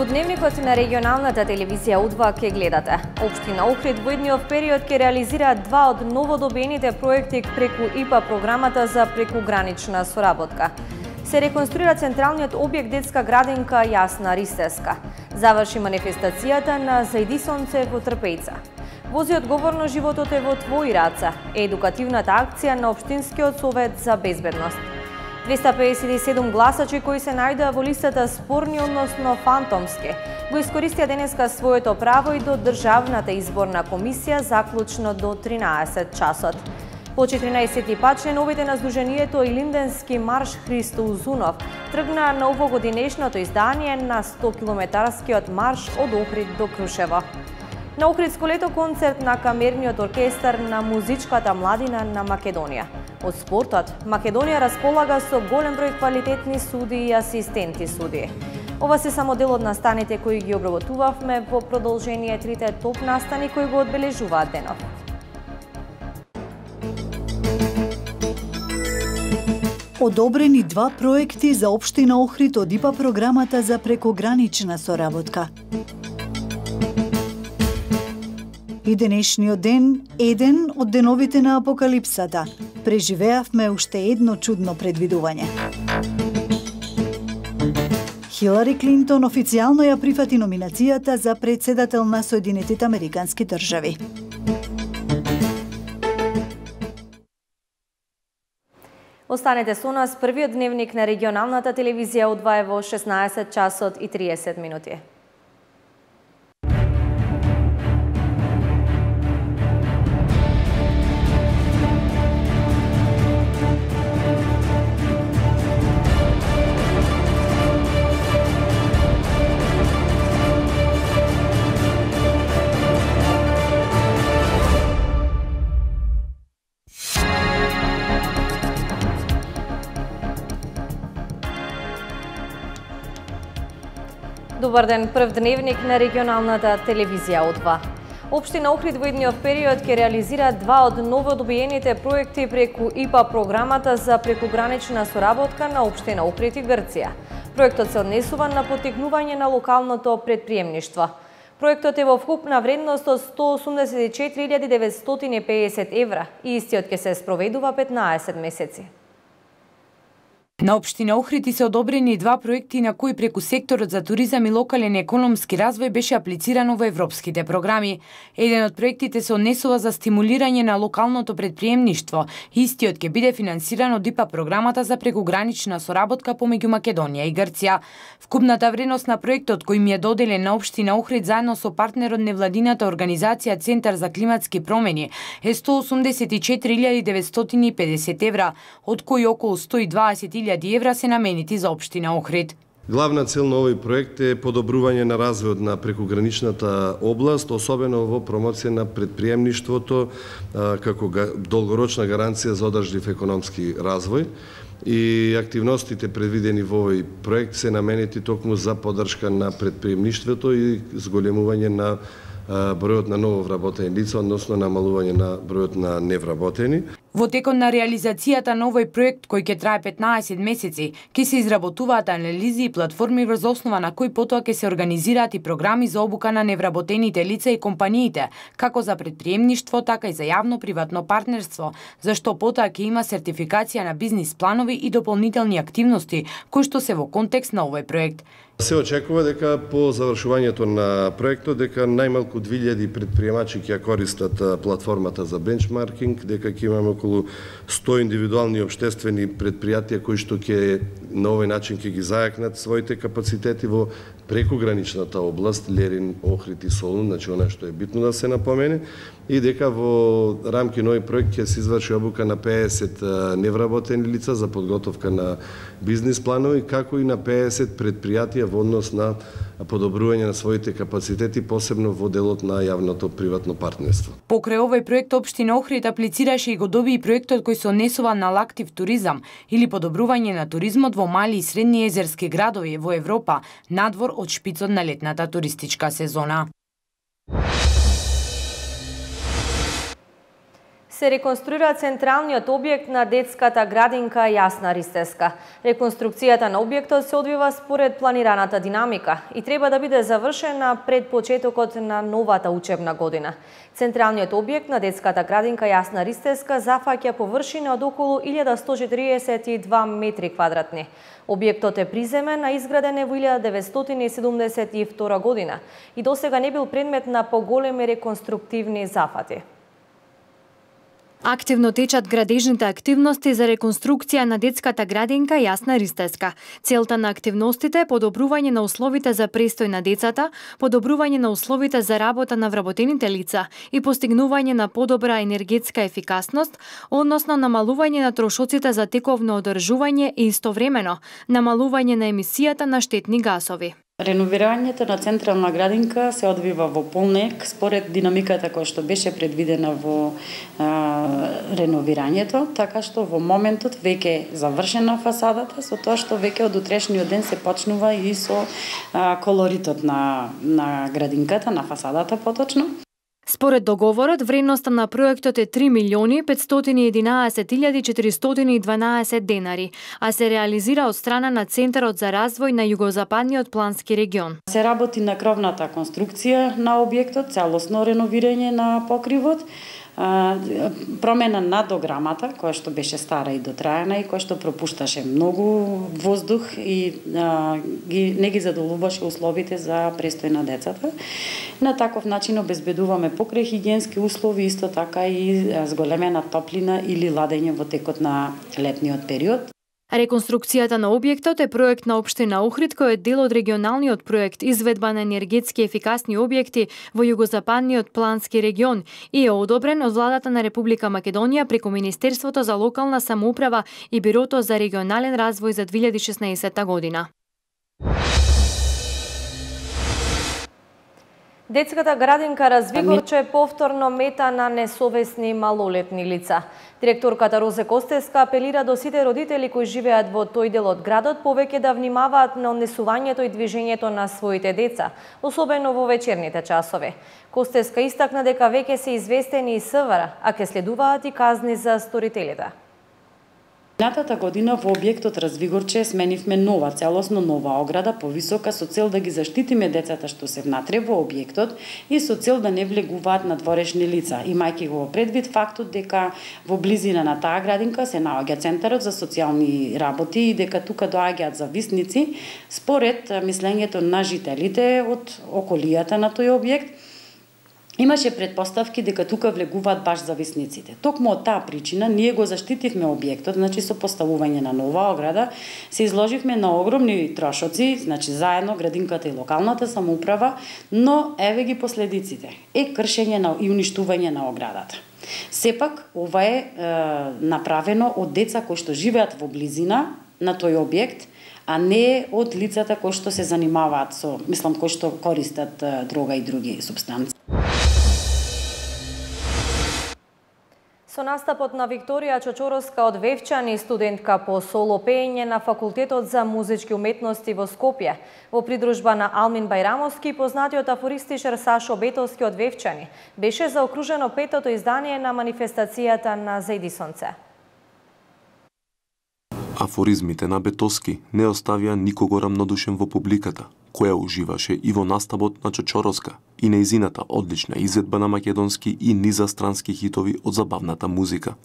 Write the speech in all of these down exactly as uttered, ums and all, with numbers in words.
Во дневникот на регионалната телевизија У два ке гледате. Општина Охрид во идниот период ке реализира два од новодобените проекти преку И П А програмата за прекугранична соработка. Се реконструира централниот објект детска градинка Јасна Ристеска. Заврши манифестацијата на Зајдисонце во Трпејца. Вози одговорно животот е во твои раце. Едукативната акција на Општинскиот совет за безбедност. двеста педесет и седум гласачи кои се најдоа во листата спорни, односно фантомски, го искористија денеска своето право и до Државната изборна комисија заклучно до тринаесет часот. По четиринаесети пат членовите на Сдруженијето Илинденски марш Христо Узунов тргнаа на овогодинешното издание на сто километарскиот марш од Охрид до Крушево. На Охридско лето концерт на камерниот оркестар на музичката младина на Македонија. Од спортот, Македонија располага со голем број квалитетни судии и асистенти судии. Ова се само дел од настаните кои ги обработувавме во продолжение трите топ настани кои го одбележуваат денов. Одобрени два проекти за Општина Охрид од И П А програмата за прекугранична соработка. И денешниот ден, еден од деновите на апокалипсата, преживеавме уште едно чудно предвидување. Хилари Клинтон официјално ја прифати номинацијата за председател на Соединетите Американски држави. Останете со нас, првиот дневник на регионалната телевизија У два е во шеснаесет часот и триесет минути. Добар ден, прв дневник на регионалната телевизија У два. Општина Охрид во идниот период ќе реализира два од новодобиените проекти преку И П А програмата за прекугранична соработка на Општина Охрид и Грција. Проектот се однесува на поттикнување на локалното претприемништво. Проектот е во вкупна вредност од сто осумдесет и четири илјади деветстотини и педесет евра и истиот ќе се спроведува петнаесет месеци. На Општина Охрид се одобрени два проекти на кои преку секторот за туризам и локален економски развој беше аплицирано во европските програми. Еден од проектите се однесува за стимулирање на локалното претприемништво. Истиот ќе биде финансиран од И П А програмата за прекугранична соработка помеѓу Македонија и Грција. Вкупната вредност на проектот кој ми е доделен на Општина Охрид заедно со партнерот невладината организација Центар за климатски промени е сто осумдесет и четири илјади деветстотини и педесет евра, од кои околу сто и дваесет илјади евра се наменети за Општина Охрид. Главна цел на овој проект е подобрување на развојот на прекуграничната област, особено во промоција на претприемништвото како долгорочна гаранција за одржлив економски развој. И активностите предвидени во овој проект се наменети токму за поддршка на претприемништвото и зголемување на бројот на ново вработени лица, односно намалување на бројот на невработени. Во текот на реализацијата на овој проект, кој ќе трае петнаесет месеци, ќе се изработуваат анализи и платформи врз основа на кои потоа ќе се организираат и програми за обука на невработените лица и компаниите, како за претприемништво, така и за јавно-приватно партнерство, зашто потоа ќе има сертификација на бизнис планови и дополнителни активности, кои што се во контекст на овој проект. Се очекува дека по завршувањето на проектот дека најмалку две илјади предприемачи ќе користат платформата за бенчмаркинг, дека ќе имаме околу сто индивидуални општествени предпријатија кои што ќе на овој начин ќе ги зајакнат своите капацитети во прекуграничната област Лерин, Охрид и Солун, значи она што е битно да се напомене, и дека во рамки на овој проект ќе се изврши обука на педесет невработени лица за подготовка на бизнис планови, како и на педесет предпријатија во однос на подобрување на своите капацитети, посебно во делот на јавното приватно партнерство. Покрај овој проект Општина Охрид аплицираше и го доби и проектот кој се однесува на лактив туризам или подобрување на туризмот во мали и средни езерски градови во Европа, надвор од шпицот на летната туристичка сезона. Се реконструира централниот објект на детската градинка Јасна Ристеска. Реконструкцијата на објектот се одвива според планираната динамика и треба да биде завршена пред почетокот на новата учебна година. Централниот објект на детската градинка Јасна Ристеска зафаќа површина од околу илјада сто четиридесет и два метри квадратни. Објектот е приземен, а изграден е во илјада деветстотини седумдесет и втора година и досега не бил предмет на поголеми реконструктивни зафати. Активно течат градежните активности за реконструкција на детската градинка Јасна Ристеска. Целта на активностите е подобрување на условите за престој на децата, подобрување на условите за работа на вработените лица и постигнување на подобра енергетска ефикасност, односно намалување на трошоците за тековно одржување и истовремено намалување на емисијата на штетни гасови. Реновирањето на централна градинка се одвива во полнек според динамиката која што беше предвидена во а, реновирањето, така што во моментот веќе е завршена фасадата, со тоа што веќе од утрешниот ден се почнува и со а, колоритот на, на градинката, на фасадата поточно. Според договорот, вредноста на проектот е три милиони петстотини и единаесет илјади четиристотини и дванаесет денари, а се реализира од страна на Центарот за развој на југозападниот плански регион. Се работи на кровната конструкција на објектот, целосно реновирање на покривот, промена на дограмата, која што беше стара и дотраена и која што пропушташе многу воздух и а, ги, не ги задоволуваше условите за престој на децата. На таков начин обезбедуваме покрај хигиенски услови, исто така и зголемена топлина или ладење во текот на летниот период. Реконструкцијата на објектот е проект на општина Охрид, кој е дел од регионалниот проект Изведба на енергетски ефикасни објекти во југозападниот плански регион и е одобрен од владата на Република Македонија преку Министерството за локална самоуправа и Бирото за регионален развој за две илјади и шеснаесетта година. Детската градинка Развигорче повторно мета на несовесни малолетни лица. Директорката Розе Костеска апелира до сите родители кои живеат во тој дел од градот повеќе да внимаваат на однесувањето и движењето на своите деца, особено во вечерните часови. Костеска истакна дека веќе се известени и СВР, а ќе следуваат и казни за сторителите. Минатата година во објектот Развигорче сменивме нова, целосно нова ограда, повисока, со цел да ги заштитиме децата што се внатре во објектот и со цел да не влегуваат надворешни лица, имајќи го предвид фактот дека во близина на таа градинка се наоѓа Центарот за социјални работи и дека тука доаѓаат зависници, според мислењето на жителите од околијата на тој објект. Имаше предпоставки дека тука влегуваат баш зависниците. Токму од таа причина ние го заштитивме објектот, значи со поставување на нова ограда, се изложивме на огромни трошоци, значи заедно градинката и локалната самоуправа, но еве ги последиците. Е кршење на и уништување на оградата. Сепак ова е, е направено од деца кои што живеат во близина на тој објект, а не од лицата кои што се занимаваат со, мислам, кои што користат дрога и други супстанци. Со настапот на Викторија Чочороска од Вевчани, студентка по соло пеење на Факултетот за музички уметности во Скопје, во придружба на Алмин Бајрамовски, познатиот афористичар Сашо Бетовски од Вевчани, беше заокружено петото издание на манифестацијата на Зајдисонце. Афоризмите на Бетовски не оставија никого рамнодушен во публиката, која уживаше и во настапот на Чочороска и нејзината одлична изведба на македонски и низастрански хитови од забавната музика.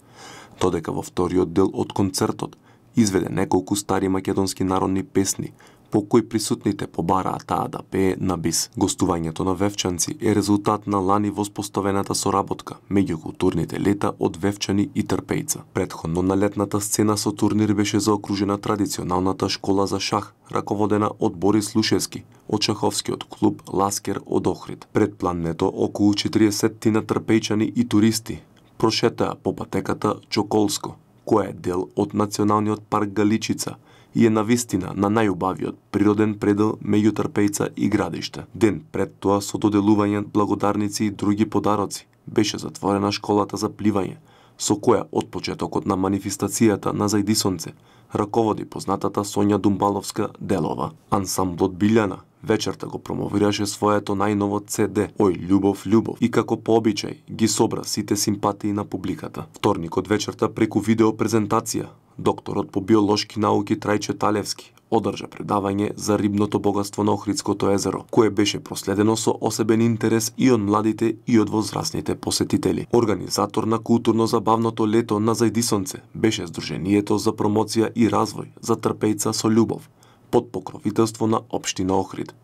Додека во вториот дел од концертот изведе неколку стари македонски народни песни, по кои присутните побараа таа да пее на бис. Гостувањето на Вевчанци е резултат на лани воспоставената соработка меѓу културните лета од Вевчани и Трпејца. Претходно на летната сцена со турнир беше заокружена традиционалната школа за шах, раководена од Борис Лушевски, од шаховскиот клуб Ласкер од Охрид. Пред плането околу четириесет на трпејчани и туристи прошетаа по патеката Чоколско, која е дел од Националниот парк Галичица и е навистина на најубавиот природен предел меѓу Трпејца и Градиште. Ден пред тоа, со доделување благодарници и други подароци, беше затворена школата за пливање, со која од почетокот на манифестацијата на Зајдисонце раководи познатата Сонја Думбаловска Делова. Ансамблот Билјана Вечерта го промовираше своето најново Це Де, Ој љубов, љубов, и како по обичај ги собра сите симпатии на публиката. Вторникот вечерта преку видео презентација, докторот по биолошки науки Трајче Талевски одржа предавање за рибното богатство на Охридското езеро, кое беше проследено со осебен интерес и од младите и од возрастните посетители. Организатор на културно-забавното лето на Зајдисонце беше Сдруженијето за промоција и развој за трпејца со љубов, под покровителство на општина Охрид.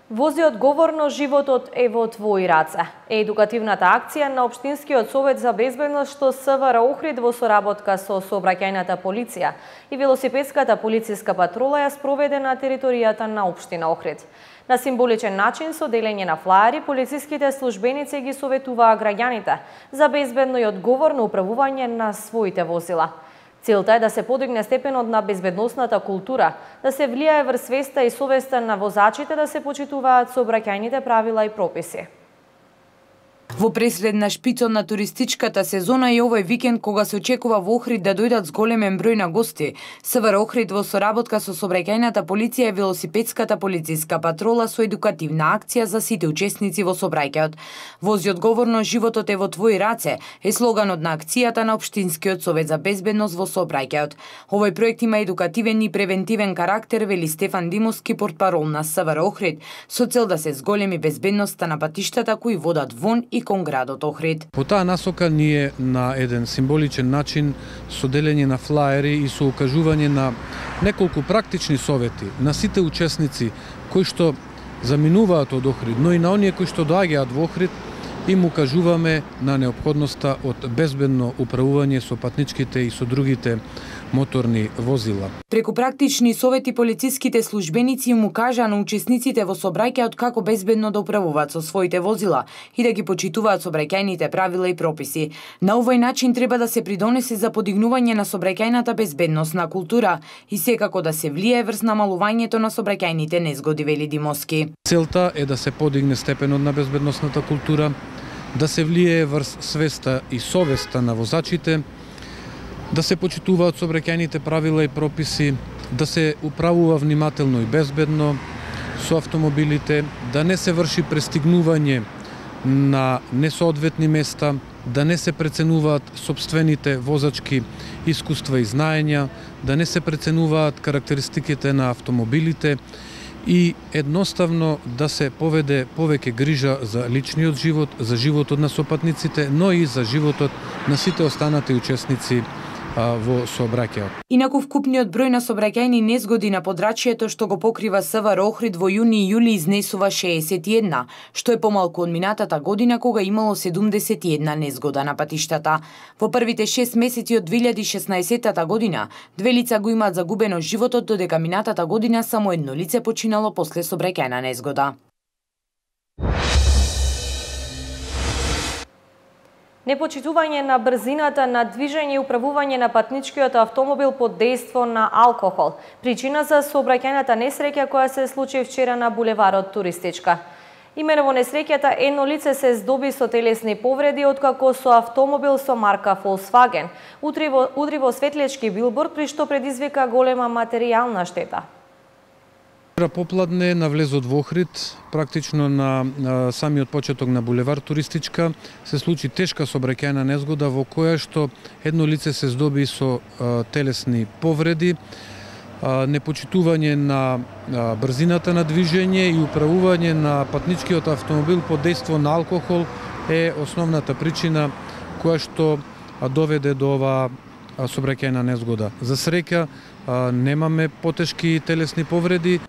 Вози одговорно, животот е во твои раце. Е едукативната акција на Општинскиот совет за безбедност што СВР Охрид во соработка со сообраќајната полиција и велосипедската полициска патрола ја спроведе на територијата на Општина Охрид. На символичен начин со делење на флаери, полициските службеници ги советуваа граѓаните за безбедно и одговорно управување на своите возила. Целта е да се подигне степенот на безбедносната култура, да се влијае врз свеста и совеста на возачите да се почитуваат сообраќајните правила и прописи. Во пресредна шпицот на туристичката сезона и овој викенд, кога се очекува во Охрид да дојдат зголемен број на гости, СВР Охрид во соработка со сообраќајната полиција и велосипедската полициска патрола со едукативна акција за сите учесници во сообраќајот. Вози одговорно, животот е во твои раце е слоганот на акцијата на Општинскиот совет за безбедност во сообраќајот. Овој проект има едукативен и превентивен карактер, вели Стефан Димовски, портпарол на СВР Охрид, со цел да се зголеми безбедноста на патиштата кои водат вон и кон градот Охрид. По таа насока ние на еден символичен начин со делење на флаери и со укажување на неколку практични совети на сите учесници кои што заминуваат од Охрид, но и на оние кои што доаѓаат во Охрид, им укажуваме на неопходноста од безбедно управување со патничките и со другите моторни возила. Преку практични совети полициските службеници им укажаа на учесниците во сообраќајот како безбедно да управуваат со своите возила и да ги почитуваат сообраќајните правила и прописи. На овој начин треба да се придонесе за подигнување на сообраќајната безбедносна култура и секако да се влијае врз намалувањето на сообраќајните незгоди, вели Димовски. Целта е да се подигне степенот на безбедносната култура, да се влијае врз свеста и совеста на возачите, да се почитуваат сообраќајните правила и прописи, да се управува внимателно и безбедно со автомобилите, да не се врши престигнување на несоодветни места, да не се преценуваат сопствените возачки искуства и знаења, да не се преценуваат карактеристиките на автомобилите и едноставно да се поведе повеќе грижа за личниот живот, за животот на сопатниците, но и за животот на сите останати учесници во сообраќајот. Инаку вкупниот број на сообраќајни незгоди на подрачјето што го покрива СВР Охрид во јуни и јули изнесува шеесет и една, што е помалку од минатата година кога имало седумдесет и една незгода на патиштата. Во првите шест месеци од две илјади и шеснаесетта година, две лица го имаат загубено животот, додека минатата година само едно лице починало после сообраќајна незгода. Непочитување на брзината на движење и управување на патничкиот автомобил под дејство на алкохол. Причина за сообраќајната несреќа која се случи вчера на булеварот Туристичка. Имено во несреќата едно лице се здоби со телесни повреди, откако со автомобил со марка Volkswagen удри во, удри во светлечки билборд, при што предизвика голема материјална штета. Попладне на влезот во Охрид, практично на, на самиот почеток на булевар Туристичка, се случи тешка сообраќајна незгода во која што едно лице се здоби со а, телесни повреди, а, непочитување на а, брзината на движење и управување на патничкиот автомобил под дејство на алкохол е основната причина која што а, доведе до оваа сообраќајна незгода. За среќа а, немаме потешки телесни повреди.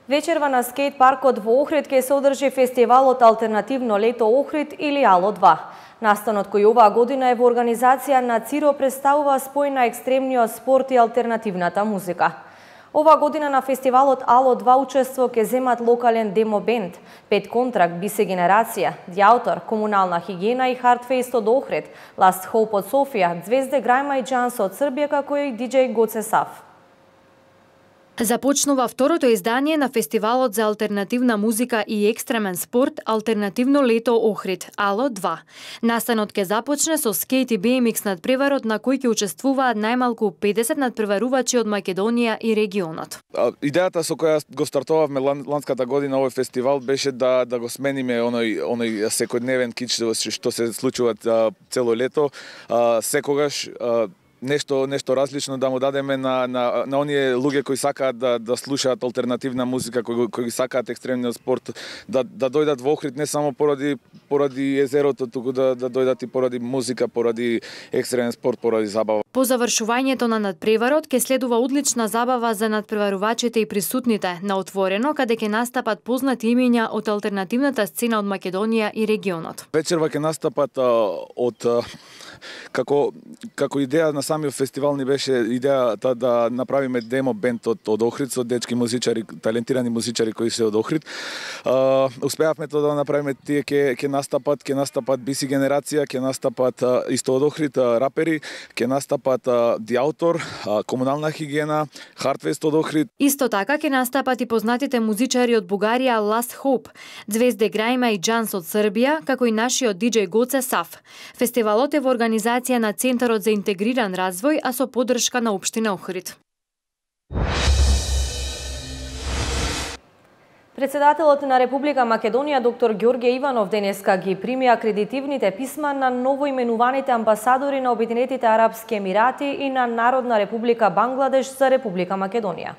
Вечерва на скейт паркот во Охрид ќе се одржи фестивалот Алтернативно лето Охрид или Ало два. Настанот кој оваа година е во организација на ЦИРО представува спој на екстремниот спорт и алтернативната музика. Оваа година на фестивалот Ало два учество ќе земат локален демо бенд, Пет контракт, Бисе генерација, Диаутор, Комунална хигиена и Хартфест од Охрид, Ласт Хоуп од Софија, Звезде Грајма и Джанс од Србија, како и диџеј Гоце Сав. Започнува второто издание на фестивалот за алтернативна музика и екстремен спорт Алтернативно лето Охрид, ало два. Настанот ќе започне со скејт и би ем икс надпреварот на кој ќе учествуваат најмалку педесет надпреварувачи од Македонија и регионот. Идејата со која го стартовавме ланската година овој фестивал беше да да го смениме оној оној секојдневен кич што се случува цело лето, секогаш нешто нешто различно да му дадеме на на на оние луѓе кои сакаат да да слушаат алтернативна музика, кои кои сакаат екстремниот спорт, да да дојдат во Охрид не само поради поради езерото, туку да да дојдат и поради музика, поради екстремен спорт, поради забава. По завршувањето на надпреварот ќе следува одлична забава за надпреварувачите и присутните на отворено, каде ќе настапат познати имиња од алтернативната сцена од Македонија и регионот. Вечерва ќе настапат од како како идеја на самиот фестивал ни беше идејата да направиме демо бенд од од Охрид со дечки музичари, талентирани музичари кои се од Охрид. Uh, успеавме тоа да направиме, тие ќе ќе настапат, ќе настапат би си генерација, ќе настапат uh, исто од Охрид uh, рапери, ќе настапат uh, The Autor, uh, Комунална хигиена, Hardfest од Охрид. Исто така ќе настапат и познатите музичари од Бугарија Last Hope, Звезде Грајма и Джанс од Србија, како и нашиот диџеј Гоце Саф. Фестивалот е во организација на Центарот за интегриран развој, а со поддршка на општина Охрид. Председателот на Република Македонија доктор Ѓорѓе Иванов денеска ги прими акредитивните писма на новоименуваните амбасадори на Обединетите Арапски Емирати и на Народна Република Бангладеш за Република Македонија.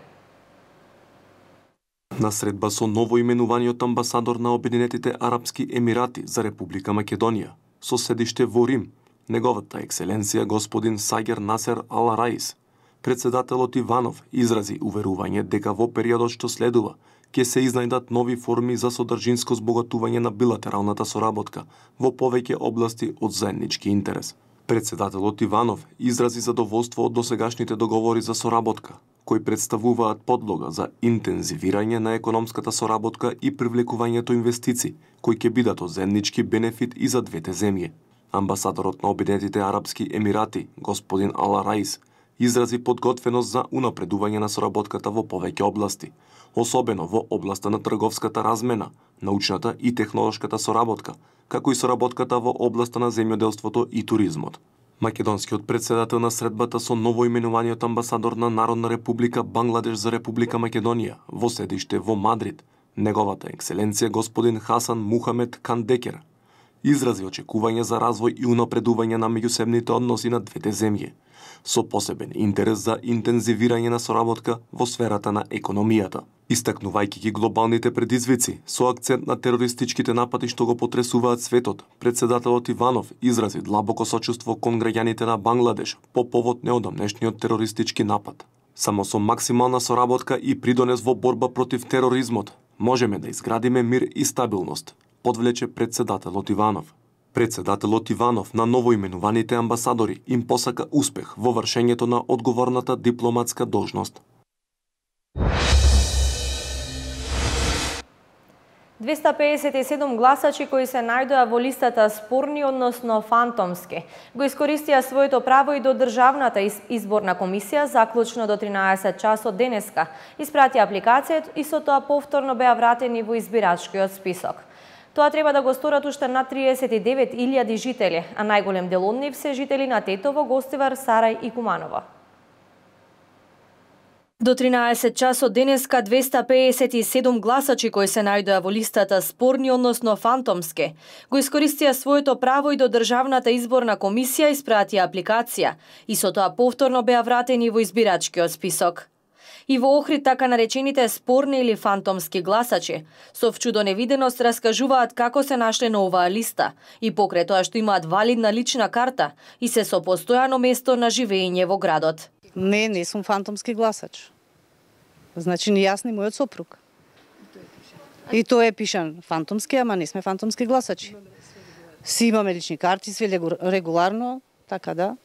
На средба со новоименуваниот амбасадор на Обединетите Арапски Емирати за Република Македонија, со седиште во Рим, неговата екселенција господин Сагер Насер Ал Раис, председателот Иванов изрази уверување дека во периодот што следува ќе се изнајдат нови форми за содржинско збогатување на билатералната соработка во повеќе области од заеднички интерес. Председателот Иванов изрази задоволство од досегашните договори за соработка, кои представуваат подлога за интензивирање на економската соработка и привлекувањето инвестиции, кои ќе бидат од заеднички бенефит и за двете земји. Амбасадорот на Обединетите Арапски Емирати, господин Ал Раис, изрази подготвеност за унапредување на соработката во повеќе области, особено во областа на трговската размена, научната и технолошката соработка, како и соработката во областа на земјоделството и туризмот. Македонскиот председател на средбата со новоименуваниот амбасадор на Народна Република Бангладеш за Република Македонија во седиште во Мадрид, неговата екселенција господин Хасан Мухамед Кандекер, изрази очекување за развој и унапредување на меѓусебните односи на двете земји, со посебен интерес за интензивирање на соработка во сферата на економијата. Истакнувајќи ги глобалните предизвици со акцент на терористичките напади што го потресуваат светот, председателот Иванов изрази длабоко сочувство кон граѓаните на Бангладеш по повод неодамнешниот терористички напад. Само со максимална соработка и придонес во борба против тероризмот можеме да изградиме мир и стабилност, подвлече председателот Иванов. Председателот Иванов на новоименуваните амбасадори им посака успех во вршењето на одговорната дипломатска должност. двеста педесет и седум гласачи кои се најдоа во листата спорни, односно фантомски, го искористија своето право и до Државната изборна комисија заклучно до тринаесет часот денеска. Испрати апликација и со тоа повторно беа вратени во избирачкиот список. Тоа треба да го сторат уште над триесет и девет илјади жители, а најголем дел од нив се жители на Тетово, Гостивар, Сарај и Куманово. До тринаесет часот денеска двеста педесет и седум гласачи кои се најдоа во листата спорни, односно фантомски, го искористија своето право и до Државната изборна комисија испратија апликација и со тоа повторно беа вратени во избирачкиот список. И во Охрид така наречените спорни или фантомски гласачи со вчудо невиденост раскажуваат како се нашле на оваа листа и покрај тоа што имаат валидна лична карта и се со постојано место на живење во градот. Не, не сум фантомски гласач. Значи ни јас ни мојот сопруг. И тоа е пишан фантомски, ама не сме фантомски гласачи. Си имаме лични карти, све регуларно, така да.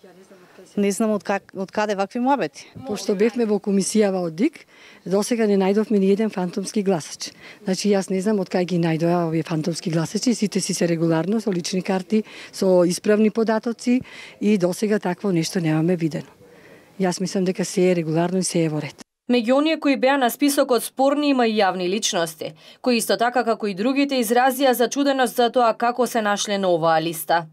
Не знам од, как, од каде вакви муабети. Пошто бевме во комисијава од ДИК, досега не најдовме ни еден фантомски гласач. Значи јас не знам од кај ги најдоа овие фантомски гласачи, сите си се регуларно со лични карти, со исправни податоци и досега такво нешто немаме видено. Јас мислам дека се е регуларно и се е во ред. Меѓу оние кои беа на списокот спорни има и јавни личности, кои исто така како и другите изразија зачуденост за тоа како се нашле на оваа листа.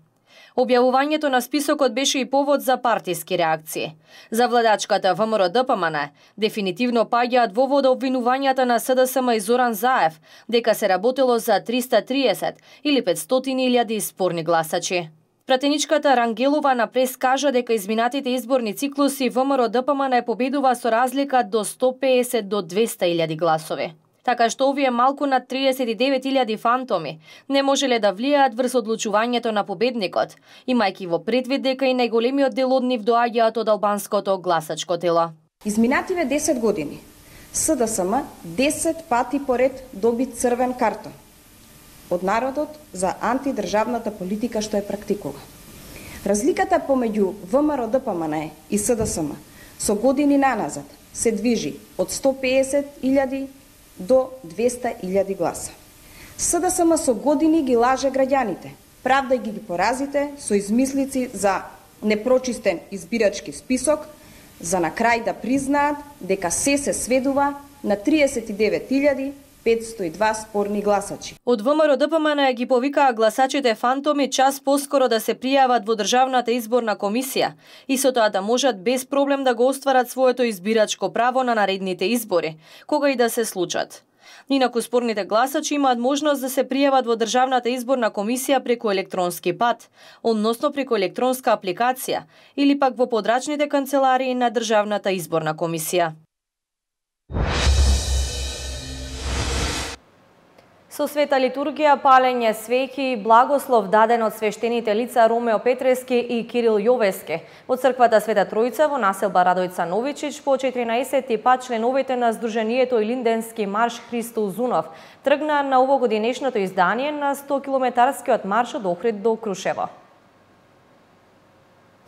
Објавувањето на списокот беше и повод за партиски реакции. За владачката ВМРО-ДПМН дефинитивно паѓаат во вода обвинувањата на СДСМ и Зоран Заев дека се работело за триста и триесет или петстотини илјади спорни гласачи. Пратеничката Рангелова на прес кажа дека изминатите изборни циклуси ВМРО-ДПМН победува со разлика до сто песет до двеста илјади гласови. Така што овие малку над триесет и девет илјади фантоми не можеле да влијаат врз одлучувањето на победникот, имајќи во предвид дека и најголемиот дел од нив доаѓаат од албанското гласачко тело. Изминативе десет години СДСМ десет пати поред доби црвен картон од народот за антидржавната политика што е практикува. Разликата помеѓу ВМРО-ДПМН и СДСМ со години наназад се движи од сто песет илјади до двеста илјади гласа. СДСМ со години ги лаже граѓаните, правдајќи ги поразите со измислици за непрочистен избирачки список, за на крај да признаат дека се се сведува на триесет и девет илјади петсто и два спорни гласачи. Од ВМРО-ДПМН ги повикаа гласачите фантоми час поскоро да се пријават во Државната изборна комисија и со тоа да можат без проблем да го остварат своето избирачко право на наредните избори, кога и да се случат. Инаку спорните гласачи имаат можност да се пријават во Државната изборна комисија преку електронски пат, односно преку електронска апликација или пак во подрачните канцеларии на Државната изборна комисија. Со света литургија, палење свеќи и благослов даден од свештените лица Ромео Петрески и Кирил Јовески во црквата Света Тројца во населба Радојца Новичич по четиринаесети пат членовите на Сдруженијето Илинденски марш Христо Узунов тргнаа на овогодинешното издание на сто километарскиот марш од Охрид до Крушево.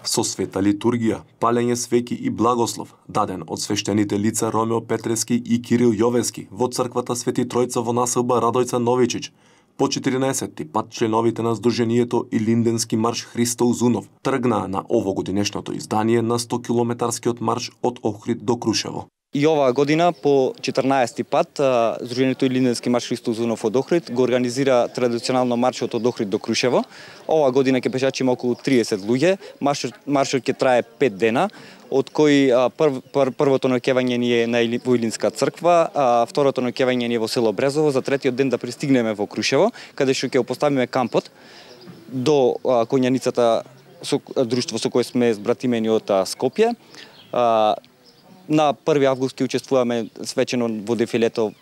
Со света литургија, палење свеќи и благослов, даден од свештените лица Ромео Петрески и Кирил Јовески во црквата Свети Тројца во населба Радојца Новичич, по четиринаесети пат членовите на Сдруженијето Илинденски марш Христо Узунов тргнаа на овогодинешното издание на сто километарскиот марш од Охрид до Крушево. И оваа година по четиринаесети пат Сдруженијето Илинденски марш Христо Узунов од Охрид го организира традиционално маршот од Охрид до Крушево. Оваа година ќе пешачи има околу триесет луѓе. Маршот маршот ќе трае пет дена, од кои пр, пр, првото ноќевање ни е на во Илинска црква, а второто ноќевање ни е во село Брезово, за третиот ден да пристигнеме во Крушево, каде што ќе поставиме кампот до Коњаницата, со друштво со кое сме збратимени од Скопје. На први август ќе учествуваме свечено во дефилето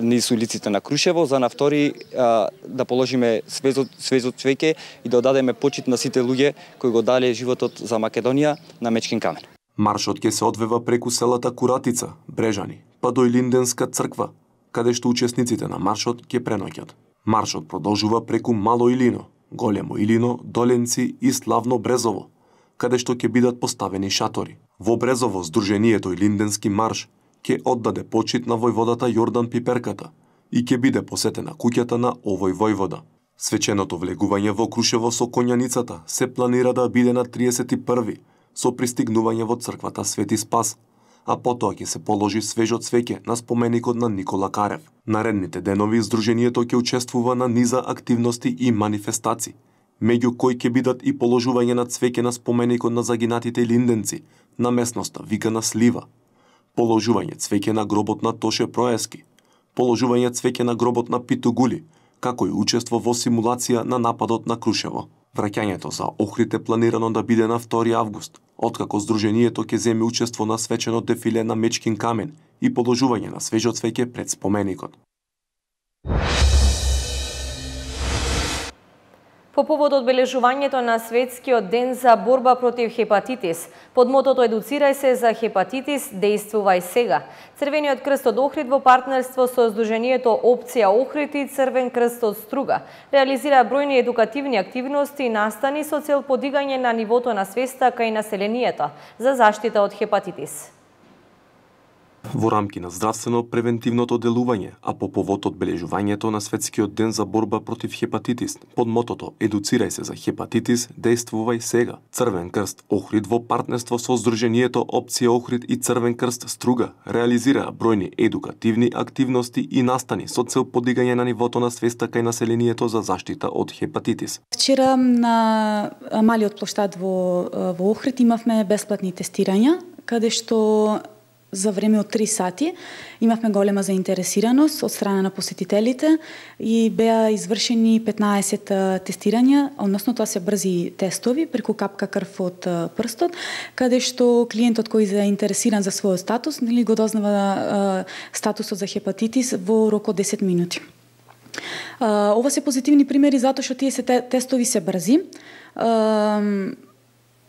низ улиците на Крушево, за на втори а, да положиме свезот, свезот цвеќе и да одадеме почит на сите луѓе кои го дале животот за Македонија на Мечкин камен. Маршот ќе се одвива преку селата Куратица, Брежани, па до Илинденска црква, каде што учесниците на маршот ќе преноќат. Маршот продолжува преку Мало Илино, Големо Илино, Доленци и Славно Брезово, каде што ќе бидат поставени шатори. Во Брезово Сдруженијето Илинденски марш ќе оддаде почит на војводата Јордан Пиперката и ќе биде посетена куќата на овој војвода. Свеченото влегување во Крушево со Коњаницата се планира да биде на триесет и први со пристигнување во црквата Свети Спас, а потоа ќе се положи свежо цвеќе на споменикот на Никола Карев. Наредните денови Сдруженијето ќе учествува на низа активности и манифестации, меѓу кои ќе бидат и положување на цвеќе на споменикот на загинатите илинденци на местноста викана Слива, положување цвеќе на гробот на Тоше Проески, положување цвеќе на гробот на Питу Гули, како и учество во симулација на нападот на Крушево. Враќањето за Охрид е планирано да биде на втори август, откако Сдруженијето ќе земе учество на свечено дефиле на Мечкин камен и положување на свежо цвеќе пред споменикот. По повод одбележувањето на Светскиот ден за борба против хепатитис, под мотото Едуцирај се за хепатитис, действувај сега, Црвениот крст од Охрид во партнерство со Сдруженијето Опција Охрид и Црвен крст од Струга реализира бројни едукативни активности и настани со цел подигање на нивото на свеста кај населението за заштита од хепатитис. Во рамки на здравствено превентивното делување, а по повод одбележувањето на Светскиот ден за борба против хепатитис, под мотото "Едуцирај се за хепатитис, действувај сега", Црвен крст Охрид во партнерство со Сдруженијето Опција Охрид и Црвен крст Струга реализираа бројни едукативни активности и настани со цел подигање на нивото на свеста кај населението за заштита од хепатитис. Вчера на малиот плоштад во, во Охрид имавме бесплатни тестирања, каде што за време од три сати имавме голема заинтересираност од страна на посетителите и беа извршени петнаесет тестирања, односно тоа се брзи тестови преку капка крв од прстот, каде што клиентот кој е заинтересиран за својот статус, нели го дознава статусот за хепатитис во рок од десет минути. Ова се позитивни примери затоа што тие се тестови се брзи.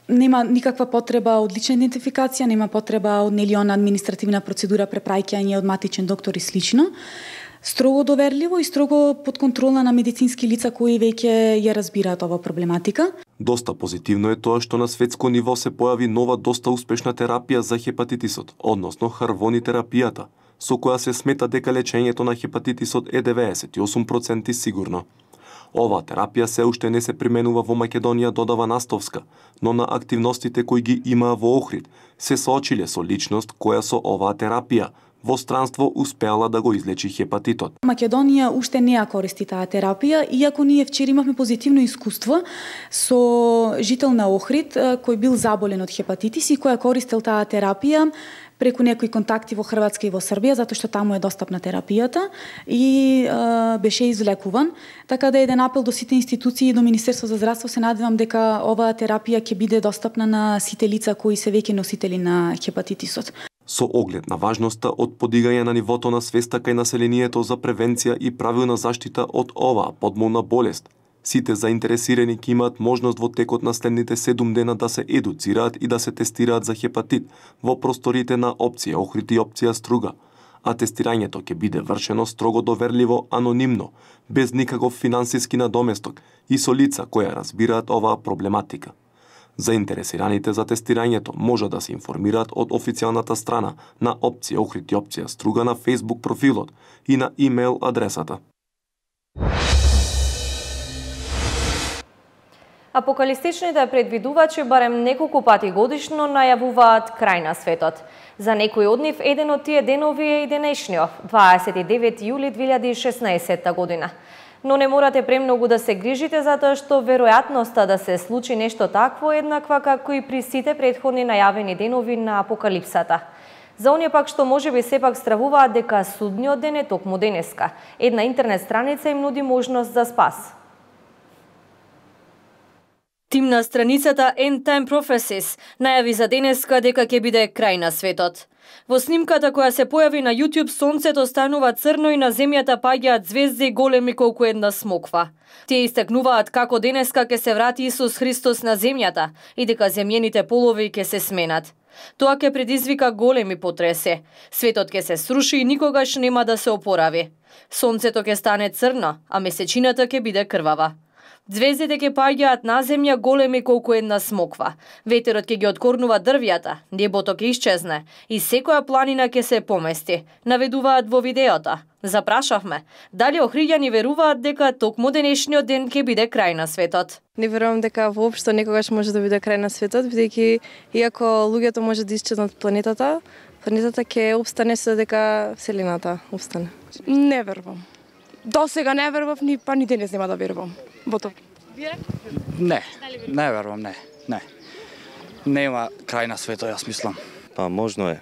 Нема никаква потреба од лична идентификација, нема потреба од нелиона административна процедура, препраќање од матичен доктор и слично. Строго доверливо и строго под контрола на медицински лица кои веќе ја разбираат ова проблематика. Доста позитивно е тоа што на светско ниво се појави нова доста успешна терапија за хепатитисот, односно харвонiterапијата, со која се смета дека лечењето на хепатитисот е деветдесет и осум проценти сигурно. Оваа терапија се уште не се применува во Македонија, додава Настовска, но на активностите кои ги имаа во Охрид се соочиле со личност која со оваа терапија во странство успеала да го излечи хепатитот. Македонија уште не ја користи таа терапија, иако ние вчера имавме позитивно искуство со жител на Охрид кој бил заболен од хепатитис и кој користел таа терапија преку некои контакти во Хрватска и во Србија, затоа што таму е достапна терапијата и е, беше излекуван. Така да еден апел до сите институции и до Министерство за здравство, се надевам дека оваа терапија ќе биде достапна на сите лица кои се веќе носители на хепатитисот. Со оглед на важноста од подигање на нивото на свеста кај населението за превенција и правилна заштита од оваа подмолна болест, сите заинтересирани ќе имаат можност во текот на следните седум дена да се едуцираат и да се тестираат за хепатит во просторите на Опција Охрид и Опција Струга, а тестирањето ќе биде вршено строго доверливо, анонимно, без никаков финансиски надоместок и со лица кои разбираат оваа проблематика. Заинтересираните за тестирањето може да се информираат од официјалната страна на Опција Охрид и Опција Струга на Facebook профилот и на имейл адресата. Апокалистичните предвидувачи барем неколку пати годишно најавуваат крај на светот. За некои од нив еден од тие денови е и денешниот, дваесет и девети јули две илјади и шеснаесетта година. Но не морате премногу да се грижите затоа што веројатноста да се случи нешто такво е еднаква како и при сите претходни најавени денови на апокалипсата. За оние пак што можеби сепак стравуваат дека судниот ден е токму денеска, една интернет страница им нуди можност за спас. Тим на страницата End Time Prophecies најави за денеска дека ќе биде крај на светот. Во снимката која се појави на YouTube, сонцето станува црно и на земјата паѓаат звезди големи колку една смоква. Тие истакнуваат како денеска ќе се врати Исус Христос на земјата и дека земјените полови ќе се сменат. Тоа ќе предизвика големи потреси. Светот ќе се сруши и никогаш нема да се опорави. Сонцето ќе стане црно, а месечината ќе биде крвава. Звездите ќе паѓаат на земја големи колку една смоква. Ветерот ќе ги откорнува дрвјата, небото ќе исчезне и секоја планина ќе се помести, наведуваат во видеото. Запрашавме, дали охриѓани веруваат дека токму денешниот ден ќе биде крај на светот? Не верувам дека воопшто некогаш може да биде крај на светот, бидејќи иако луѓето може да исчезнат планетата, планетата ќе опстане со дека вселената опстане. Не верувам. До сега не верував, ни па ни денес нема да верувам. Бото. Не, не верувам, не, не. Нема крај на светот, јас мислам. Па можно е.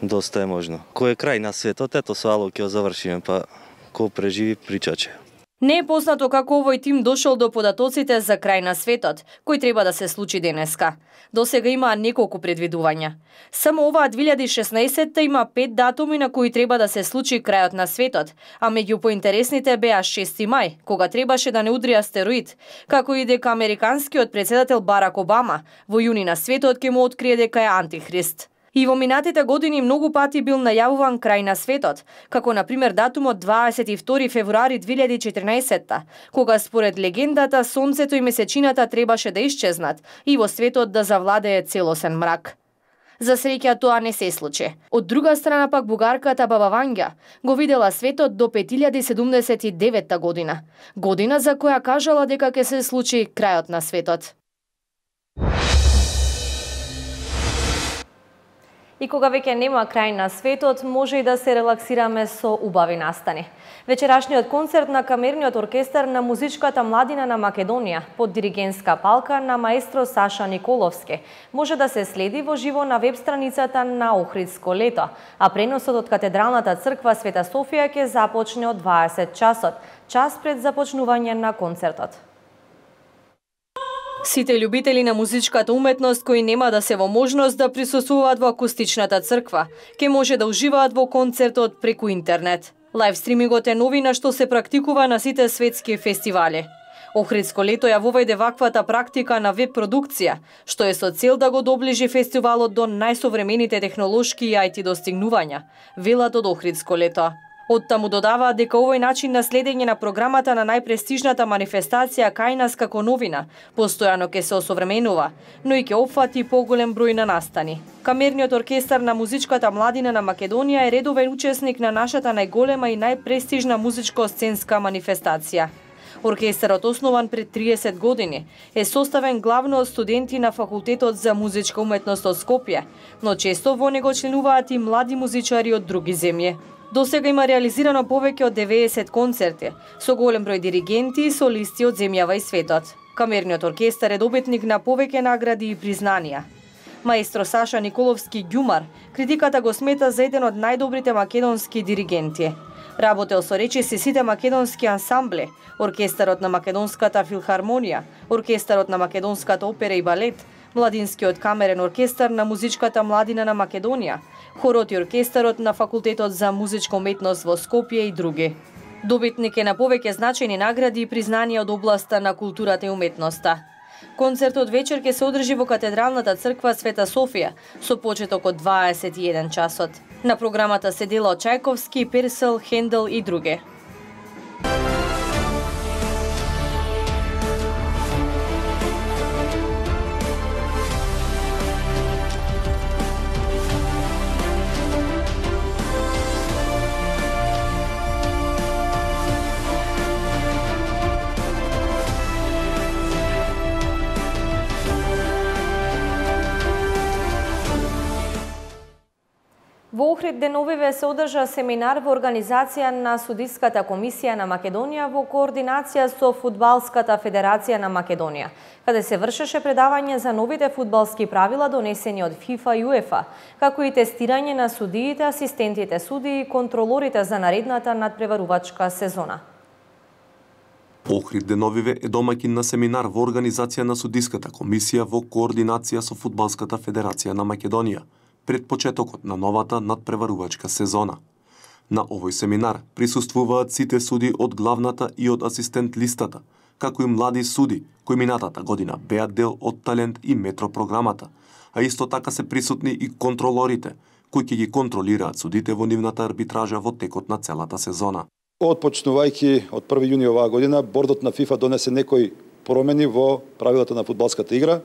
Доста е можно. Кој е крај на светот, ето со Ало ќе завршиме, па кој преживи причаче. Не е познато како овој тим дошол до податоците за крај на светот, кој треба да се случи денеска. До сега има неколку предвидувања. Само оваа две илјади и шеснаесетта има пет датуми на кои треба да се случи крајот на светот, а меѓу поинтересните беа шести мај, кога требаше да не удри астероид, како и дека американскиот претседател Барак Обама во јуни на светот ќе му открие дека е антихрист. И во минатите години многу пати бил најавуван крај на светот, како на пример датумот дваесет и втори февруари две илјади и четрнаесетта, кога според легендата сонцето и месечината требаше да исчезнат и во светот да завладее целосен мрак. За среќа тоа не се случи. Од друга страна пак бугарката Баба Вања го видела светот до пет илјади седумдесет и девета година, година за која кажала дека ќе се случи крајот на светот. И кога веќе нема крај на светот, може и да се релаксираме со убави настани. Вечерашниот концерт на камерниот оркестар на музичката младина на Македонија под диригентска палка на маестро Саша Николовски може да се следи во живо на веб страницата на Охридско лето, а преносот од Катедралната црква Света Софија ќе започне од дваесет часот, час пред започнување на концертот. Сите љубители на музичката уметност кои нема да се во можност да присуствуваат во акустичната црква, ќе може да уживаат во концертот преку интернет. Лајв стримингот е новина што се практикува на сите светски фестивали. Охридско лето ја воведе ваквата практика на веб продукција, што е со цел да го доближи фестивалот до најсовремените технолошки и ай ти достигнувања, велат од Охридско лето. Од таму додаваат дека овој начин на следење на програмата на најпрестижната манифестација кај нас како новина постојано ќе се осовременува, но и ќе опфати поголем број на настани. Камерниот оркестар на музичката младина на Македонија е редовен учесник на нашата најголема и најпрестижна музичко-сценска манифестација. Оркестарот, основан пред триесет години, е составен главно од студенти на Факултетот за музичка уметност од Скопје, но често во него членуваат и млади музичари од други земји. До сега има реализирано повеќе од деветдесет концерти, со голем број диригенти и солисти од земјава и светот. Камерниот оркестар е добитник на повеќе награди и признанија. Маестро Саша Николовски Ѓумар критиката го смета за еден од најдобрите македонски диригенти. Работел со речиси сите македонски ансамбле, оркестарот на Македонската филхармонија, оркестарот на Македонската опера и балет, Младинскиот камерен оркестар на музичката младина на Македонија, хорот и оркестарот на Факултетот за музичка уметност во Скопје и други. Добитник е на повеќе значајни награди и признанија од областа на културата и уметноста. Концертот вечер ќе се одржи во Катедралната црква Света Софија со почеток од дваесет и еден часот. На програмата се дела од Чајковски, Персел, Хендел и други. Во Охрид деновиве се одржа семинар во организација на Судиската комисија на Македонија во координација со Фудбалската федерација на Македонија, каде се вршеше предавање за новите фудбалски правила донесени од ФИФА и УЕФА, како и тестирање на судиите, асистентите судии и контролорите за наредната надпреварувачка сезона. Охрид деновиве е домаќин на семинар во организација на Судиската комисија во координација со Фудбалската федерација на Македонија пред почетокот на новата надпреварувачка сезона. На овој семинар присуствуваат сите суди од главната и од асистент листата, како и млади суди кои минатата година беа дел од Талент и Метро програмата, а исто така се присутни и контролорите, кои ќе ги контролираат судите во нивната арбитража во текот на целата сезона. Отпочнувајќи од први јуни оваа година, бордот на ФИФА донесе некои промени во правилата на фудбалската игра.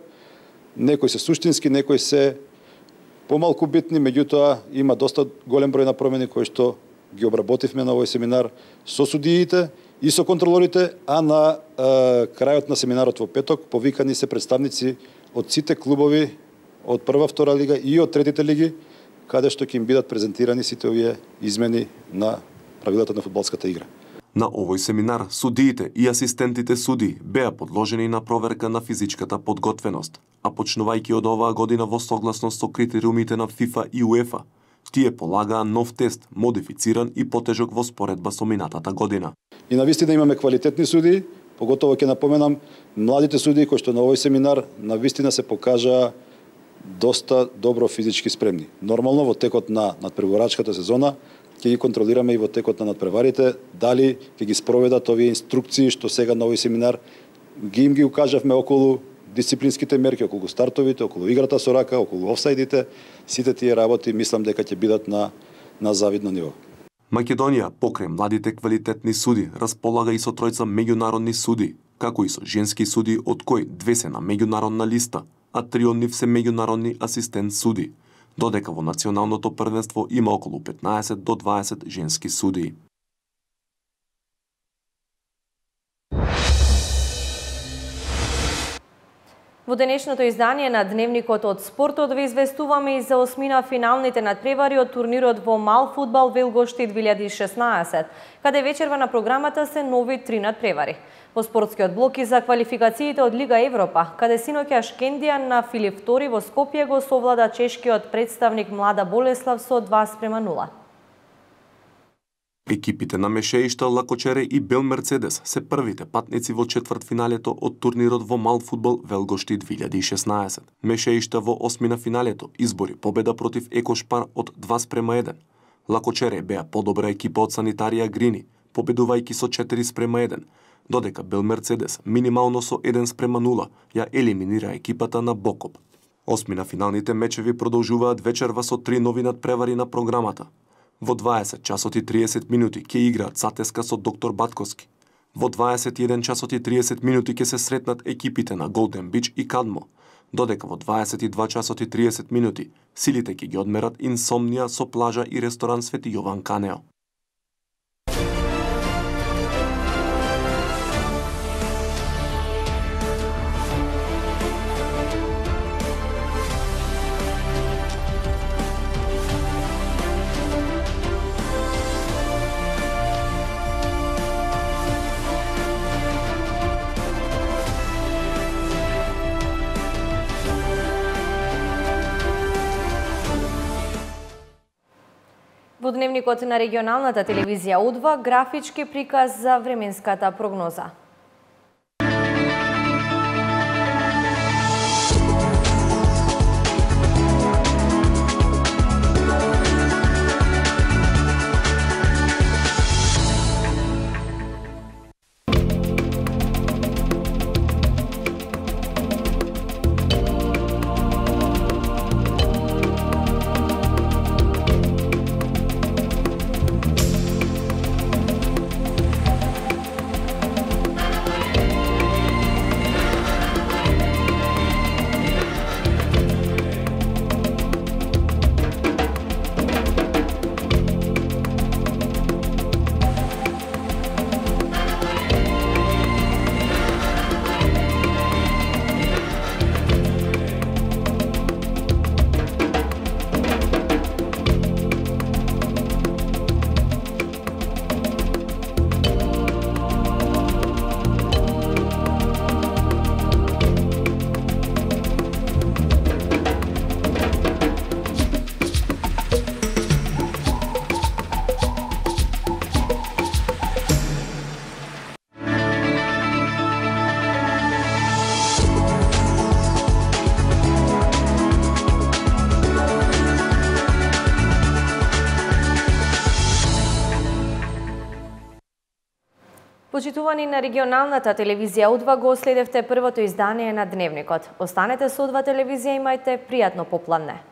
Некои се суштински, некои се помалку битни, меѓутоа има доста голем број на промени кои што ги обработивме на овој семинар со судиите и со контролорите, а на е, крајот на семинарот во петок повикани се представници од сите клубови од прва, втора лига и од третите лиги, каде што ќе им бидат презентирани сите овие измени на правилата на фудбалската игра. На овој семинар судиите и асистентите суди беа подложени на проверка на физичката подготвеност, а почнувајќи од оваа година во согласност со критериумите на ФИФА и УЕФА, тие полагаа нов тест, модифициран и потежок во споредба со минатата година. И навистина имаме квалитетни судии, поготово ќе напоменам младите судии кои што на овој семинар навистина се покажаа доста добро физички спремни. Нормално во текот на надпреварувачката сезона ќе ги контролираме и во текот на надпреварите, дали ќе ги спроведат овие инструкции што сега на овој семинар ги им ги укажавме околу дисциплинските мерки, околу стартовите, околу играта со рака, околу офсайдите, сите тие работи мислам дека ќе бидат на на завидно ниво. Македонија покрај младите квалитетни суди располага и со тројца меѓународни суди, како и со женски суди од кои две се на меѓународна листа, а три од нив се меѓународни асистент суди. додека во националното првенство има околу петнаесет до дваесет женски судии. Во денешното издание на Дневникот од спортот ве известуваме и за осмина финалните надпревари од турнирот во мал фудбал Велгошти две илјади и шеснаесет, каде вечерва на програмата се нови три надпревари. Во спортскиот блок и за квалификациите од Лига Европа, каде синоќа Шкендија на Филип втори во Скопје го совлада чешкиот представник Млада Болеслав со два спрема нула. Екипите на Мешеишта, Лакочере и Бел Мерцедес се првите патници во четвртфиналето од турнирот во мал фудбал Велгошти две илјади и шеснаесет. Мешеишта во осмина финалето избори победа против Екошпар од два спрема еден. Лакочере беа подобра екипа од Санитарија Грини, победувајќи со четири спрема еден, додека Бел Мерцедес минимално со еден спрема нула ја елиминира екипата на Бокоп. Осмина финалните мечеви продолжуваат вечерва со три нови надпревари на програмата. Во дваесет часот и триесет минути ќе играат Сатеска со Доктор Батковски. Во дваесет и еден часот и триесет минути ќе се сретнат екипите на Голден Бич и Кадмо, додека во дваесет и два часот и триесет минути силите ќе ги одмерат Инсомнија со плажа и ресторан Свети Јован Канео. Во Дневникот на регионалната телевизија Удва графички приказ за временската прогноза. Почитувани на регионалната телевизија Удва, го следевте првото издание на Дневникот. Останете со Удва телевизија, имајте пријатно попладне.